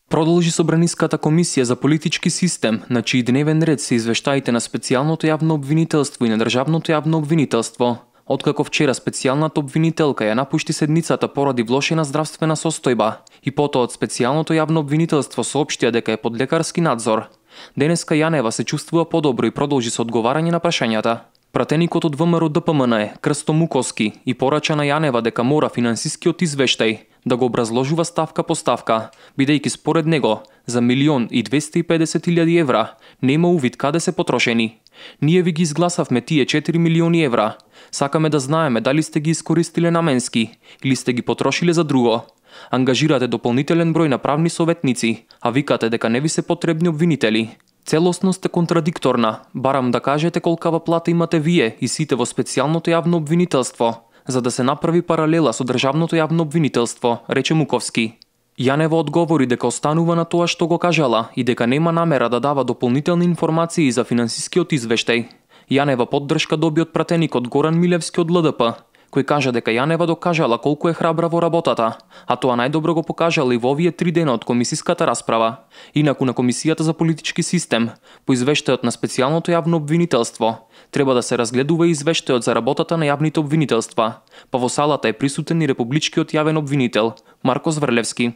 Продолжи Собраниската комисија за политички систем, на чиј дневен ред се извештаите на специјалното јавно обвинителство и на државното јавно обвинителство. Откако вчера специјалната обвинителка ја напушти седницата поради влошена здравствена состојба и потоа од специјалното јавно обвинителство соопштија дека е под лекарски надзор, денеска Јанева се чувствува подобро и продолжи со одговарање на прашањата. Пратеникот од ВМРО-ДПМН Крсто Муковски и порача на Јанева дека мора финансискиот извештај да го образложува ставка по ставка, бидејќи според него за 1.250.000 евра нема увид каде се потрошени. Ние ви ги изгласавме тие 4 милиони евра. Сакаме да знаеме дали сте ги искористиле наменски или сте ги потрошиле за друго. Ангажирате дополнителен број на правни советници, а викате дека не ви се потребни обвинители. Целосно сте контрадикторна. Барам да кажете колкава плата имате вие и сите во специјалното јавно обвинителство, за да се направи паралела со државното јавно обвинителство, рече Муковски. Јанева одговори дека останува на тоа што го кажала и дека нема намера да дава дополнителни информации за финансискиот извештај. Јанева поддршка доби од пратеникот Горан Милевски од ЛДП, кој кажа дека Јанева докажала колку е храбра во работата, а тоа најдобро го покажала и во овие 3 дена од комисиската расправа. Инаку на Комисијата за политички систем, по извештајот на специјалното јавно обвинителство, треба да се разгледува и извештајот за работата на јавните обвинителства, па во салата е присутен и републичкиот јавен обвинител Марко Зврлевски.